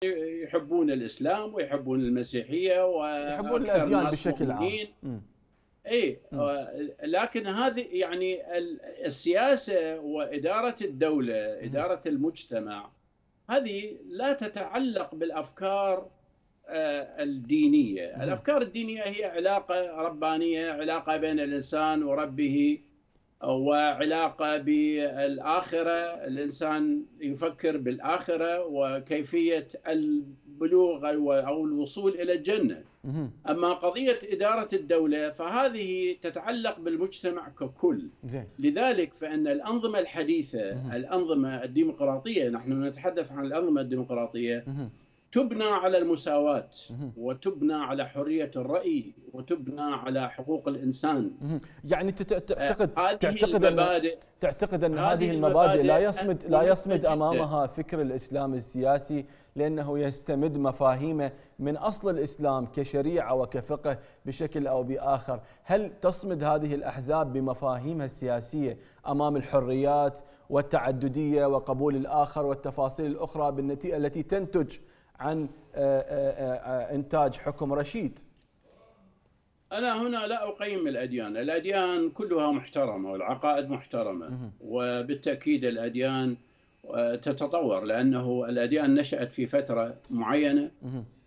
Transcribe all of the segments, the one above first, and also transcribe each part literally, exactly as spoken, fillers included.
يحبون الإسلام ويحبون المسيحية يحبون وأكثر الأديان الناس بشكل عام. مؤمنين. اي لكن هذه يعني السياسة وإدارة الدولة، إدارة المجتمع، هذه لا تتعلق بالأفكار الدينية. الأفكار الدينية هي علاقة ربانية، علاقة بين الإنسان وربه، وعلاقة بالآخرة. الإنسان يفكر بالآخرة وكيفية البلوغ أو الوصول إلى الجنة. أما قضية إدارة الدولة فهذه تتعلق بالمجتمع ككل. لذلك فإن الأنظمة الحديثة، الأنظمة الديمقراطية، نحن نتحدث عن الأنظمة الديمقراطية، تبنى على المساواة، وتبنى على حرية الرأي، وتبنى على حقوق الإنسان. يعني تعتقد تعتقد أن تعتقد أن هذه المبادئ لا يصمد لا يصمد أمامها فكر الإسلام السياسي، لأنه يستمد مفاهيمه من أصل الإسلام كشريعة وكفقه بشكل أو بآخر. هل تصمد هذه الأحزاب بمفاهيمها السياسية أمام الحريات والتعددية وقبول الآخر والتفاصيل الأخرى بالنتيجة التي تنتج عن إنتاج حكم رشيد؟ أنا هنا لا أقيم الأديان، الأديان كلها محترمة والعقائد محترمة، وبالتأكيد الأديان تتطور، لأنه الأديان نشأت في فترة معينة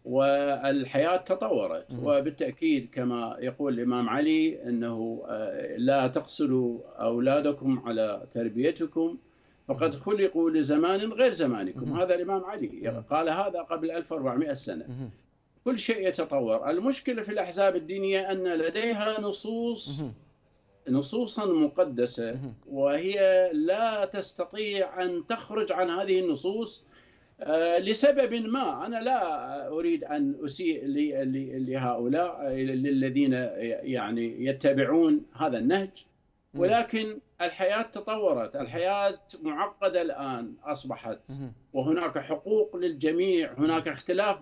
والحياة تطورت. وبالتأكيد كما يقول الإمام علي أنه لا تقصروا أولادكم على تربيتكم فقد خلقوا لزمان غير زمانكم. هذا الإمام علي قال هذا قبل ألف وأربعمئة سنة. كل شيء يتطور. المشكلة في الأحزاب الدينية أن لديها نصوص نصوصا مقدسة، وهي لا تستطيع أن تخرج عن هذه النصوص لسبب ما. أنا لا أريد أن أسيء لهؤلاء الذين يعني يتبعون هذا النهج، ولكن الحياة تطورت، الحياة معقدة الآن أصبحت، وهناك حقوق للجميع، هناك اختلاف